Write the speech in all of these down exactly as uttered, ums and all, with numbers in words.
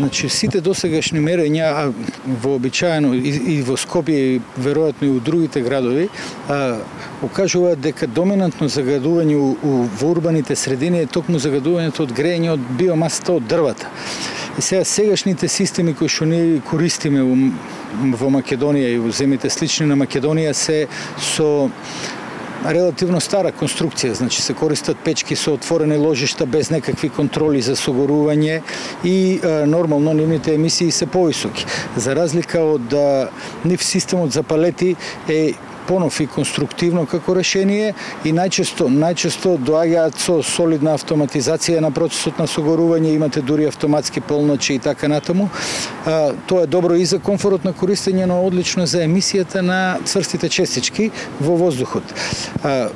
Значи, сите досегашни мерења, вообичаено и, и во Скопје и веројатно и у другите градови, а, окажуваат дека доминантно загадување у, у, во урбаните средини е токму загадувањето од грејење од биомасата од дрвата. И сега сегашните системи кои што ние користиме во Македонија и во земите слични на Македонија се со релативно стара конструкција, значи се користат печки со отворени ложишта без некакви контроли за согорување и е, нормално нивните емисии се повисоки. За разлика од нив системот за палети е понов и конструктивно како решение и најчесто најчесто доаѓаат со солидна автоматизација на процесот на согорување, имате дури автоматски полночи и така натаму. А, тоа е добро и за комфорот на користење, но одлично за емисијата на цврстите честички во воздухот. А,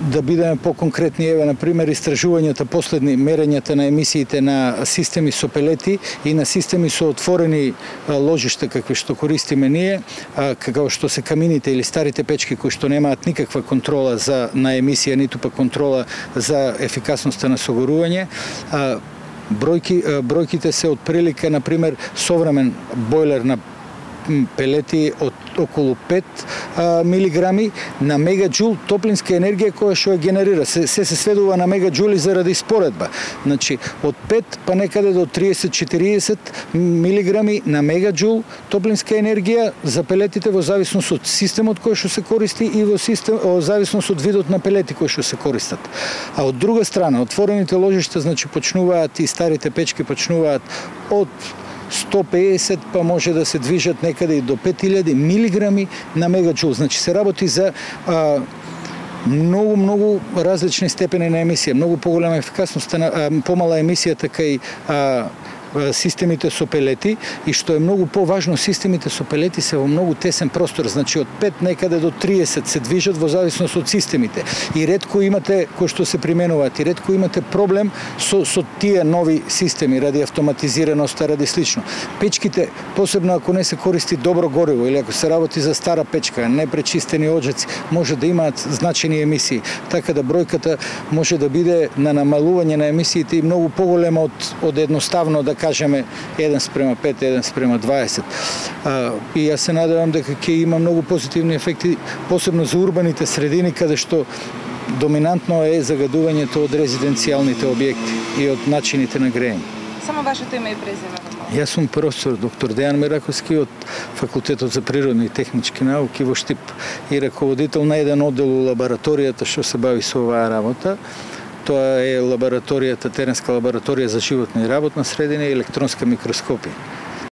да бидеме по-конкретни, еве на пример истражувањата последни, мерењата на емисиите на системи со пелети и на системи со отворени ложишта какви што користиме ние, како што се камините или старите печки кои што немаат никаква контрола за на емисија, ниту па контрола за ефикасноста на согорување. Бројки бројките се отприлика, на пример, современ бойлер на пелети од околу пет милиграми на мегаџул топлинска енергија која што ја генерира. Се, се се сведува на мегаџули заради споредба. Значи, од пет па некаде до триесет до четириесет милиграми на мегаџул топлинска енергија за пелетите во зависност од системот кој што се користи и во систем во зависност од видот на пелети кои што се користат. А од друга страна, отворените ложишта, значи почнуваат и старите печки почнуваат од сто педесет па може да се движат некаде и до пет илјади милиграми на мегаџул. Значи се работи за а, многу многу различни степени на емисија, многу поголема ефикасност, а, помала емисијата кај а, системите со пелети и што е многу поважно, системите со пелети се во многу тесен простор, значи од пет некаде до триесет се движат во зависност од системите. И ретко имате кои што се применуваат, и ретко имате проблем со со тие нови системи ради автоматизираноста, ради слично. Печките, посебно ако не се користи добро гориво или ако се работи за стара печка, непречистени оджаци, може да имаат значени емисии. Така да бројката може да биде на намалување на емисиите и многу поголема од од едноставно да кажеме еден спрема пет, еден спрема дваесет. А, и јас се надевам дека ќе има многу позитивни ефекти, посебно за урбаните средини, каде што доминантно е загадувањето од резиденцијалните објекти и од начините на грејење. Само вашето име и презиме. Јас сум професор доктор Дејан Мераковски од Факултетот за природни и технички науки во Штип и раководител на еден оддел у лабораторијата што се бави со оваа работа. Тоа е лабораторијата, теренска лабораторија за животна и работна средина и електронска микроскопија.